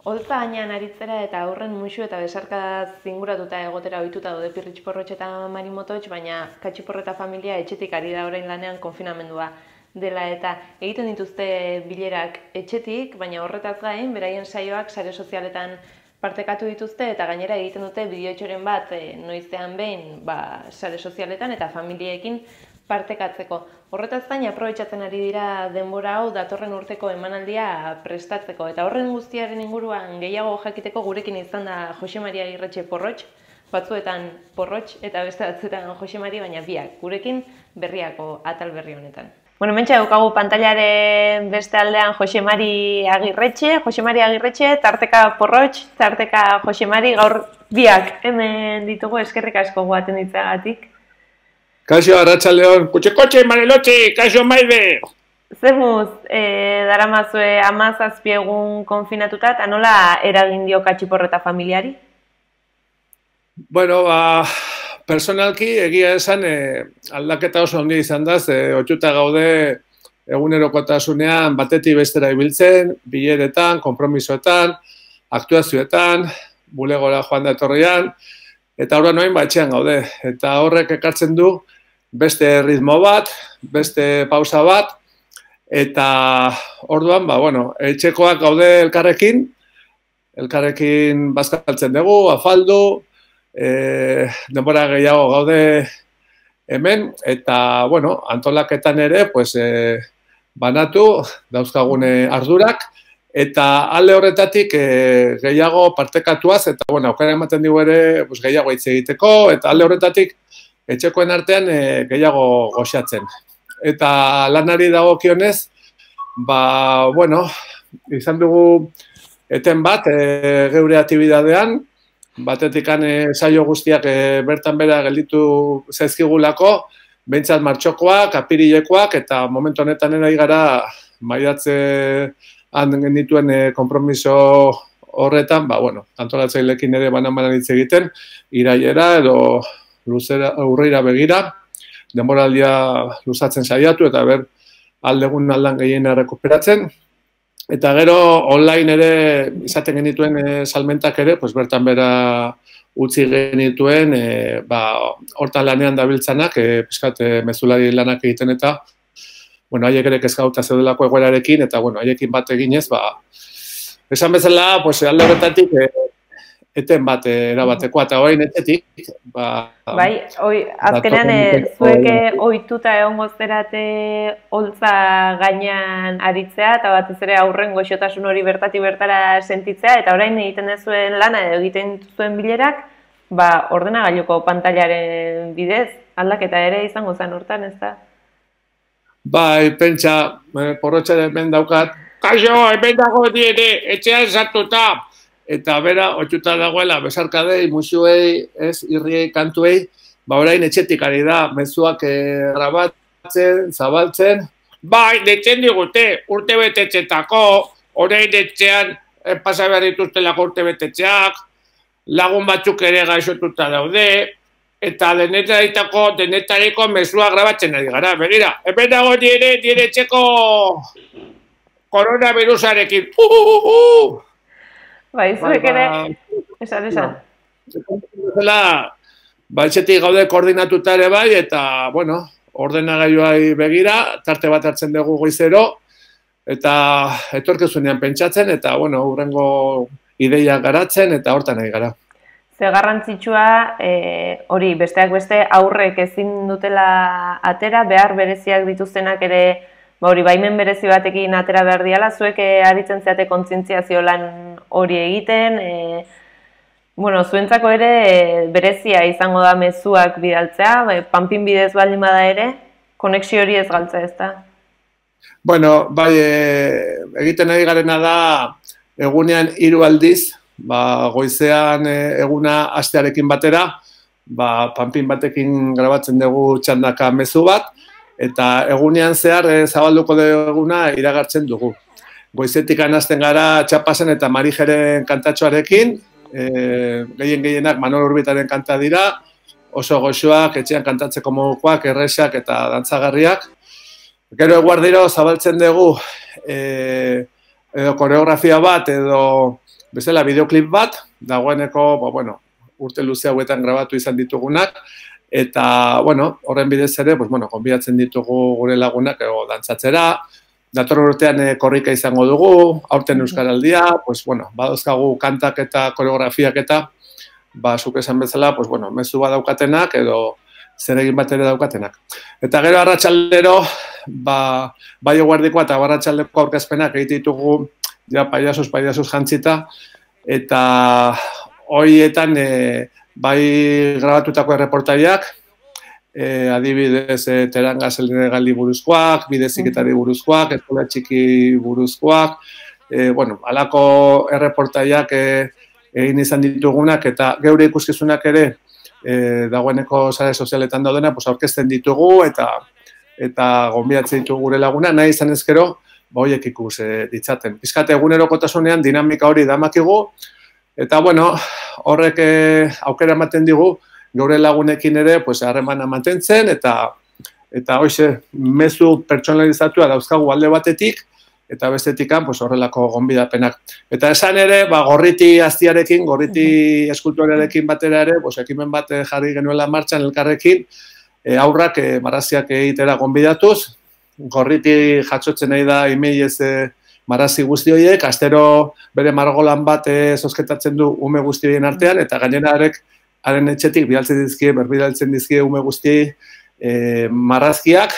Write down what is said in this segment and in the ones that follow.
Holtza gainean aritzera eta aurren musu eta besarkada zinguratuta egotera ohituta daude Pirritx Porrotx eta Mari Mototx, baina Katxiporreta familia etxetik ari da orain lanean konfinamendua dela eta egiten dituzte bilerak etxetik, baina horretaz gain, beraien saioak sare sozialetan partekatu dituzte eta gainera egiten dute bideotxoren bat noizean behin sare sozialetan eta familiekin partekatzeko. Horretaz gain aprobetxatzen ari dira denbora hau datorren urteko emanaldia prestatzeko. Eta horren guztiaren inguruan gehiago jakiteko gurekin izan da Jose Mari Agirretxe Porrotx, batzuetan Porrotx eta beste batzuetan Jose Mari, baina biak gurekin berriako atal berri honetan. Bueno, mentxe daukagu pantailaren beste aldean Jose Mari Agirretxe, tarteka Porrotx, tarteka Jose Mari, gaur biak hemen ditugu, eskerrik asko guaten ditzagatik. Kaixo, arratsaldeon, kutxe, Marilotxi, kaixo, Maide! Zemuz, daramazue 17 egun konfinatuta, eta nola eragin dio Katxiporreta familiari? Bueno, personalki egia esan aldaketa oso handia izan da, ohituta gaude egunerokotasunean batetik bestera ibiltzen, bileretan, konpromisoetan, aktuazioetan, bulegora joan da etorrian, eta horren noin etxean gaude. Eta horrek ekartzen du beste ritmo bat, beste pausa bat, eta orduan, etxekoak gaude elkarrekin bazkaltzen dugu, afaldu, denbora gehiago gaude hemen, eta, antolaketan ere, banatu, dauzkagune ardurak, eta alde horretatik gehiago partekatuaz, eta, aukera ematen dugu ere gehiago hitz egiteko, eta alde horretatik etxekoen artean gehiago goxatzen. Eta lanari dagokionez, izan dugu eten bat geure aktibidadean, batetikan saio guztiak bertan bera gelditu zaizkigulako, behintzat martxokoak, apirilekoak, eta momentu honetan ari gara maiatzean genituen konpromiso horretan, antolatzailekin ere banan hitz egiten, irailera edo urrira begira, denboraldia luzatzen saiatu eta aldegun aldan gehiena rekuperatzen. Eta gero online ere izaten genituen salmentak ere, bertan bera utzi genituen, hortan lanean dabiltzanak, pixkat mezulari lanak egiten eta, haiek ere kezkauta zeudelako egoerarekin, eta haiekin bat eginez, esan bezala, alde horretatik, eten bat erabateko, eta orain etetik. Azkenean zueke ohituta egongo zerate holtza gainean aritzea, eta batez ere aurren goxotasun hori bertatik bertara sentitzea, eta orain egiten duzuen lana edo egiten zuen bilerak, ordenagailuko pantailaren bidez, aldaketa ere izango zen hortan, ez da? Pentsa, Porrotxaren hemen daukat, kaixo, hemen dago diene, etxean sartuta, eta bera, ohituta dagoela, besarkadei, musuei, irriei, kantuei, orain etxetik ari da, mezuak grabatzen, zabaltzen. Detzen digute, urte betetxetako, orain etxean, pasa behar dituztelako urte betetxeak, lagun batzuk ere gaixotuta daude, eta denetariko mezua grabatzen ari gara. Begira, hemen dago dire etxeko koronavirusarekin. Zuek ere, esan. Etxetik gaude koordinatuta ere eta, ordenagailuai begira, tarte bat hartzen dugu goizero, eta etorkizunean pentsatzen, eta, hurrengo ideiak garatzen, eta hortan ari gara. Ze garrantzitsua, hori, besteak beste, aurrek ezin dutela atera, behar bereziak dituztenak ere, baimen berezi batekin atera behar diala, zuek aritzen zeate kontzientziazio lan hori egiten, zuentzako ere berezia izango da mezuak bidaltzea, panpin bidez baldin bada ere, konexio hori ez galtza ez da? Egiten ari garena da egunean 3 aldiz, goizean eguna astearekin batera, panpin batekin grabatzen dugu txandaka mezu bat, eta egunean zehar zabalduko duguna iragartzen dugu. Goizetik hasten gara Txapasen eta Marijeren kantatxoarekin, gehienak Manol Urbitaren kanta dira, oso goxoak, etxean kantatzeko modukoak, erresak eta dantzagarriak. Gero eguardiro zabaltzen dugu koreografia bat edo bezala bideoklip bat, dagoeneko, bueno, urte luze hauetan grabatu izan ditugunak, eta, bueno, horren bidez ere, konbidatzen ditugu gure lagunak dantzatzera, datorren urtean korrika izango dugu, aurten Euskaraldia, badozkagu kantak eta koreografiak eta, zuk esan bezala, mezu bat daukatenak edo zer egin bat ere daukatenak. Eta gero arratsaldero, bai eguerdikoa eta arratsaldeko aurkezpenak egite ditugu, ja paiasuz jantzita, eta horietan bai grabatutako erreportaiak, adibidez Teranga Senegali buruzkoak, bideziketari buruzkoak, eskola txiki buruzkoak, halako erreportaiak egin izan ditugunak, eta geure ikuskizunak ere dagoeneko sare sozialetan daudena, aurkezten ditugu, eta gonbidatzen ditugu gure laguna, nahi izan ezkero, horiek ikus ditzaten. Pizkate egunerokotasunean dinamika hori damakigu, eta horrek aukera ematen digu, geure lagunekin ere harremana mantentzen, eta hoxe mezu pertsonalizatua dauzkagu alde batetik, eta bestetikan horrelako gonbidapenak. Eta esan ere, Gorriti Aztiarekin, Gorriti eskultorearekin batera ere, ekimen bat jarri genuela martxan elkarrekin, aurrak marraziak egitera gonbidatuz, Gorriti jatsotzen nahi da imeiez marrazi guzti horiek, astero bere margolan bat zozketatzen du ume guzti horien artean, eta gainera haren etxetik berbidaltzen dizkie ume guzti marrazkiak,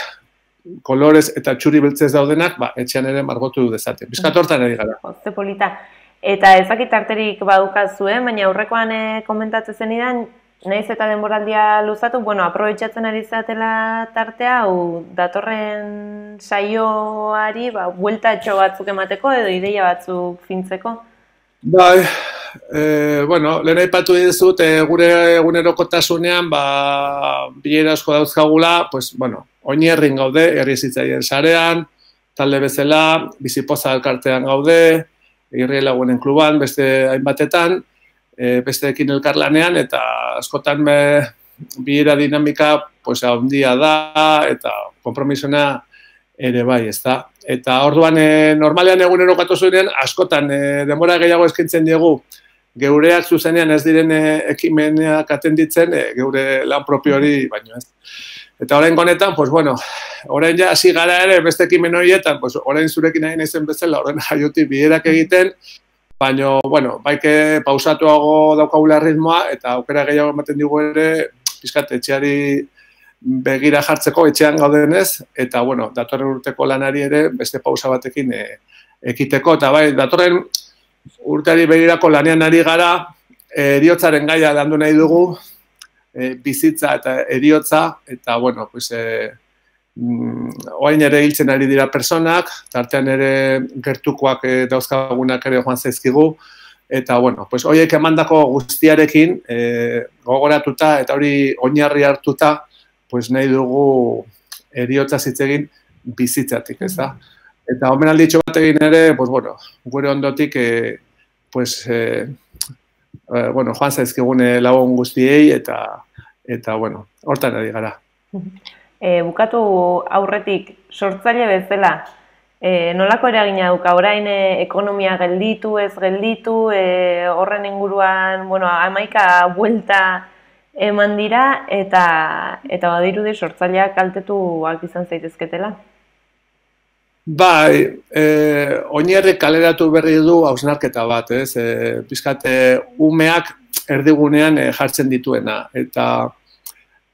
kolorez eta txuri beltzez daudenak, etxean ere margotu dezaten. Bizkat hortan ari gara. Ze polita. Eta ezakit tarterik badukazuen, baina aurrekoan komentatzen zenidan, nahiz eta denboraldia luzatu, aprobetxatzen ari zatela tartea, datorren saioari, bueltatxo batzuk emateko edo ideia batzuk fintzeko? Bai, lehen aipatu dizut, gure egunerokotasunean, bilera asko dauzkagula, oinierrin gaude, herri zitzaien sarean, talde bezala, bizipoza elkartean gaude, irri lagunen kluban, beste hainbatetan, besteekin elkarlanean, eta askotan bilera dinamika handia da, eta konpromisona ere bai, ez da. Eta orduan, normalean egunerokotasunean, askotan denbora gehiago eskaintzen diegu, geureak zuzenean ez diren ekimenak atenditzen, geure lan propio hori, baino ez. Eta orain honetan, orain ja hasi gara ere beste ekimen horietan, orain zurekin nahi naizen bezala, orain jaiotik bilerak egiten, baina, baike pausatuago daukagula ritmoa, eta aukera gehiago ematen digu ere, pizkat etxeari begira jartzeko etxean gaudenez, eta, datorren urteko lanari ere beste pausa batekin ekiteko, eta datorren urteari begirako lanean ari gara, eriotzaren gaia landu nahi dugu, bizitza eta eriotza, eta, oain ere hiltzen ari dira personak, tartean ere gertukoak dauzkagunak ere joan zaizkigu, eta, horiek emandako guztiarekin gogoratuta eta hori oinarri hartuta, nahi dugu eriotza zitzegin bizitzatik, ez da? Eta omenalditxo bat egin ere, gure ondotik, joan zaizkigun lagun guztiei, eta, hortan ari gara. Bukatu aurretik, sortzaile bezala, nolako eragina duka, orain ekonomia gelditu, ez gelditu, horren inguruan, 11 buelta eman dira, eta badirudi sortzaileak kaltetuak izan zaitezketela. Bai, oinarri kaleratu berri du hausnarketa bat, ez? Pizkate umeak erdigunean jartzen dituena, eta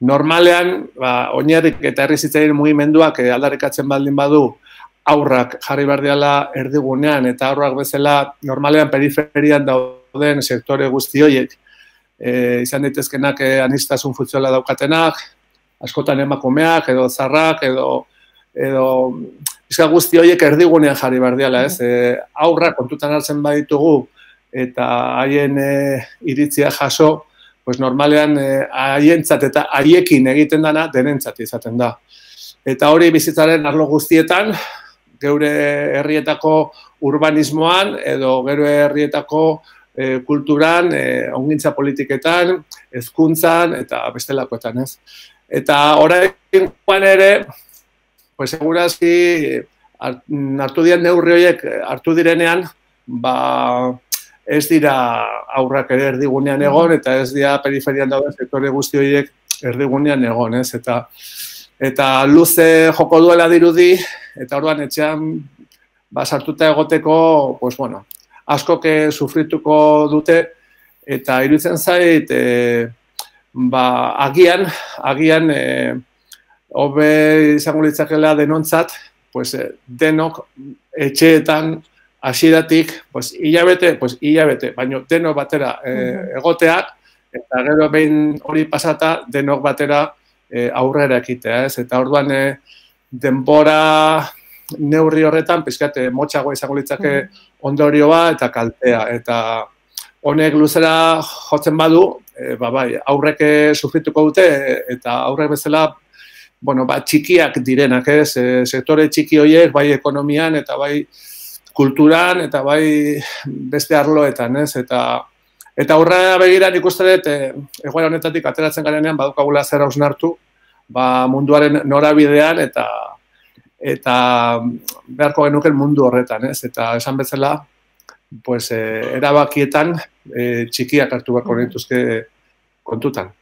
normalean, oinarrik eta herri zitzaien mugimenduak aldarrikatzen baldin badu aurrak jarri behar diala erdigunean, eta aurrak bezala normalean periferian dauden sektore guzti horiek, izan daitezkenak aniztasun funtzionala daukatenak, askotan emakumeak, edo zarrak, edo bizka guzti horiek erdigunean jarri behar diala, ez? Aurrak kontutan hartzen baditugu, eta haien iritzia jaso, normalean haientzat eta haiekin egiten dana denentzat izaten da. Eta hori bizitzaren arlo guztietan, geure herrietako urbanismoan, edo geure herrietako kulturan, ongintza politiketan, hezkuntzan eta bestelakoetan, ez? Eta orain ere, segurazki hartu diren neurri horiek hartu direnean, ez dira aurrak ere erdigunean egon, eta ez dira periferian dauden sektore guzti horiek erdigunean egon, ez? Eta luze joko duela dirudi, eta orduan etxean sartuta egoteko, pues bueno, askok sufrituko dute, eta iruditzen zait, agian, hobe izango litzakela denontzat, pues denok etxeetan hasieratik, pues hilabete, baina denok batera egoteak, eta gero behin hori pasata denok batera aurrera ekitea, ez? Eta orduan denbora neurri horretan, pizkat motxagoa izango litzake ondorioa eta kaltea, eta honek luzera jotzen badu, bai, aurrek sufrituko dute, eta aurrek bezala, bueno, txikiak direnak, ez? Sektore txiki horiek, bai ekonomian, eta bai kulturan, eta bai beste arloetan, ez? Eta aurrera begiran ikusten dut, egoera honetatik ateratzen garenean, badukagula zer hausnartu, munduaren norabidean, eta beharko genuken mundu horretan, ez? Eta esan bezala, pues, erabakietan txikiak hartu beharko genituzke kontutan.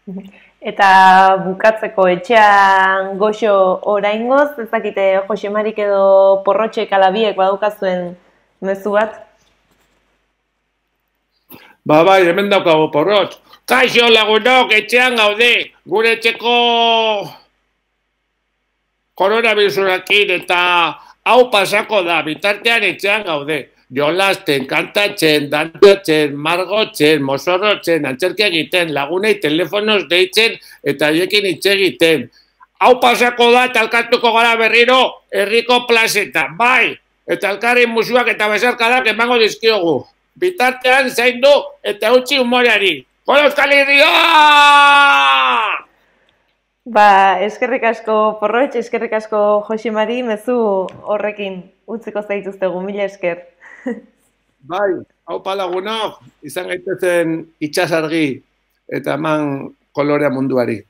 Eta bukatzeko etxean goxo oraingoz, ez dakite Jose Marik edo Porrotxek alabiek badukazuen mezu bat? Bai, hemen daukago Porrotx. Kaixo lagunok, etxean gaude, gure etxeko koronavirusarekin eta hau pasako da, bitartean etxean gaude. Jolasten, kantatzen, dantzatzen, margotzen, mozorrotzen, antzerki egiten, lagunei telefonoz deitzen eta haiekin hitz egiten. Hau pasako da eta elkartuko gara berriro herriko plazetan, bai, eta elkarren musuak eta besarkadak emango dizkiogu. Bitartean zaindu eta utzi humoreari. Gora Euskal Herria! Eskerrik asko Porrotx, eskerrik asko Jose Mari, mezu horrekin utziko zaituztegu, mila esker. Bai, haupa lagunok, izan gaitezen itxasargi eta eman kolorea munduari.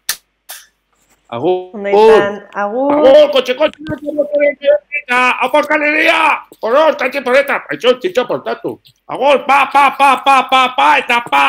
Agur! Agur! Kotxe, haupa Euskal Herria! Porrotx, katxe porreta, paixo, txitxo portatu. Agur, pa, eta pa!